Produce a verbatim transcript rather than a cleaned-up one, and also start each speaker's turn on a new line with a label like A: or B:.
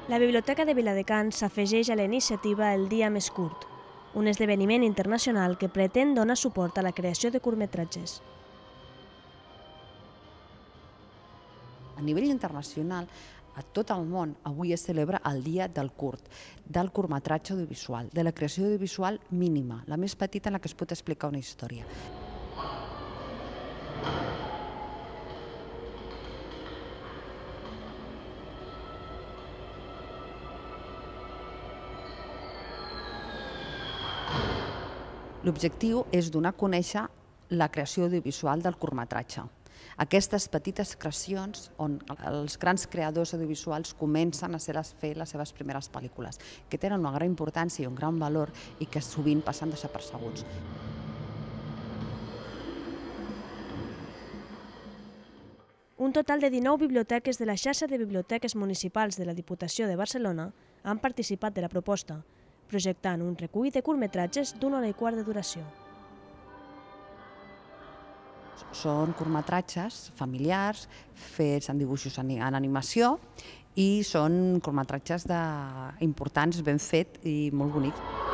A: La Biblioteca de Viladecans s'afegeix a la iniciativa El dia més curt, un esdeveniment internacional que pretén donar suport a la creació de curtmetratges.
B: A nivell internacional, a tot el món, avui es celebra el Dia del Curt, del curtmetratge audiovisual, de la creació audiovisual mínima, la més petita en la que es pot explicar una història. L'objectiu és donar a conèixer la creació audiovisual del curtmetratge. Aquestes petites creacions on els grans creadors audiovisuals comencen a fer les seves primeres pel·lícules, que tenen una gran importància i un gran valor i que sovint passen desapercebuts.
A: Un total de dinou biblioteques de la xarxa de biblioteques municipals de la Diputació de Barcelona han participat de la proposta, projectant un recull de curtmetratges d'una hora i quart de duració.
B: Són curtmetratges familiars, fets en dibuixos en animació i són curtmetratges importants, ben fets i molt bonics.